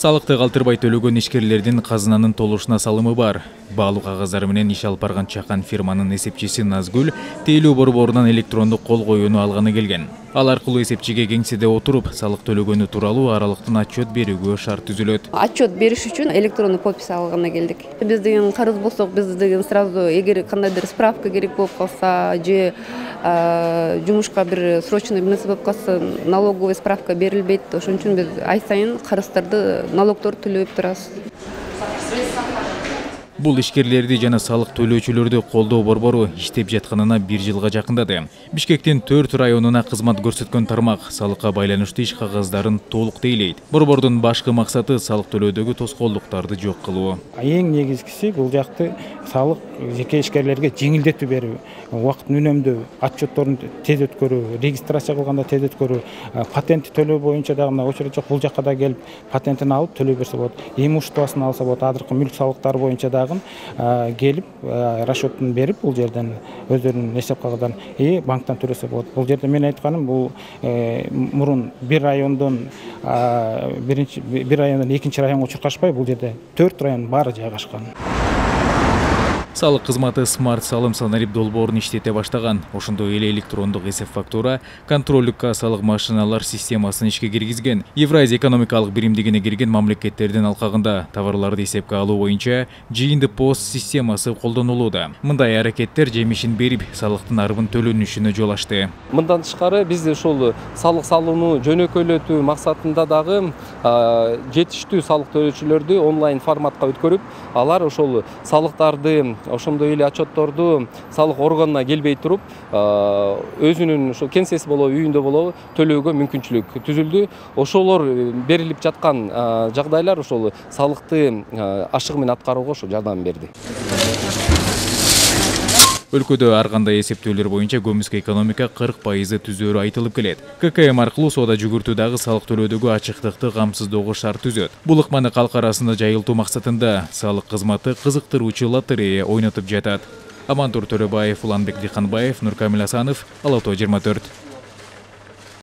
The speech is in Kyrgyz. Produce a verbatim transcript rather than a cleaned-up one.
Салыкты калтырбай төлөгөн ишкерлердин казынанын толушуна салымы бар. Баалуу кагаздары менен иш алып барган чакан фирманын эсепчиси Назгүл тейлөө борборунан электрондук кол коюуну алганы келген. Ал аркылуу эсепчиге кеңседе отуруп, салык төлөгөнү тууралуу аралыктын отчет берүүгө шарт түзүлөт. Отчет бериш үчүн электрондук подпись алганы келдик. Биз деген карыз болсок, биз деген сразу эгер кандайдыр справка керек болуп калса же жумушка бир срочный нерсе болуп калса, налоговый справка берилбейт. Ошон үчүн биз ай сайын карыздарды, налогдорду төлөп турабыз. Бул ишкерлерди жана салык төлөөчүлөрдү колдоо борбору иштеп жатканына бир жылга жакындады. Бишкектин төрт районуна кызмат көрсөткөн тармак салыкка байланыштуу иш кагаздарын толук тейлейт. Борбордун башкы максаты салык төлөөдөгү тоскоолдуктарды жок кылуу. Эң негизгиси бул жакты салык жеке ишкерлерге жеңилдетүү берүү, убакытын үнөмдөө, отчетторун тез өткөрүү, регистрация кылганда тез өткөрүү, патент төлөө боюнча дагы мына очередь жок, бул жакка да келип патентин алып төлөй берсе болот. Имуществосын алса болот, азыркы мүлк салыктары боюнча дагы келип расчетун берип бул жерден өздөрүнүн эсеп кагыздарын и банктан төлөсө болот. Бул жерде мен айтканым, бул мурун бир райондон биринчи бир райондон экинчи районго чуркашпай, бул жерде төрт район баары жайгашкан. Салык кызматы смарт салым санарип долбоорун иштете баштаган. Ошондой эле электрондук эсеп фактура, контролдук кассалык машиналар системасын ишке киргизген. Евразия экономикалык биримдигине кирген мамлекеттердин алкагында товарларды эсепке алуу боюнча жыйынды пост системасы колдонулууда. Мындай аракеттер жемишин берип, салыктын арбын төлөнүшүнө жол ачты. Мындан тышкары биз ошол салык салууну жөнөкөйлөтүү максатында дагы жетиштүү салык төлөөчүлөрдү онлайн форматка өткөрүп, алар ошол салыктарды ошондой эле отчетторду салык органына келбей туруп, өзүнүн ошо кеңсеси болобу, үйүндө болобу төлөөгө мүмкүнчүлүк түзүлдү. Ошолор берилип жаткан жагдайлар ошол салыкты ашыгы менен аткарууга ошо жардам берди. Өлкөдө ар кандай эсептөөлөр боюнча көмүскө экономика кырк пайызы түзөөрү айтылып келет. ка ка эм аркылуу соода жүгүртүүдагы салык төлөөдөгү ачыктыкты камсыздоого шарт түзөт. Бул ыкманы калк арасында жайылтуу максатында салык кызматы кызыктыруучу лотерея ойнотуп жатат. Амантур Төрөбаев, Уланбек Дыйканбаев, Нуркамил Асанов, Ала тоо жыйырма төрт.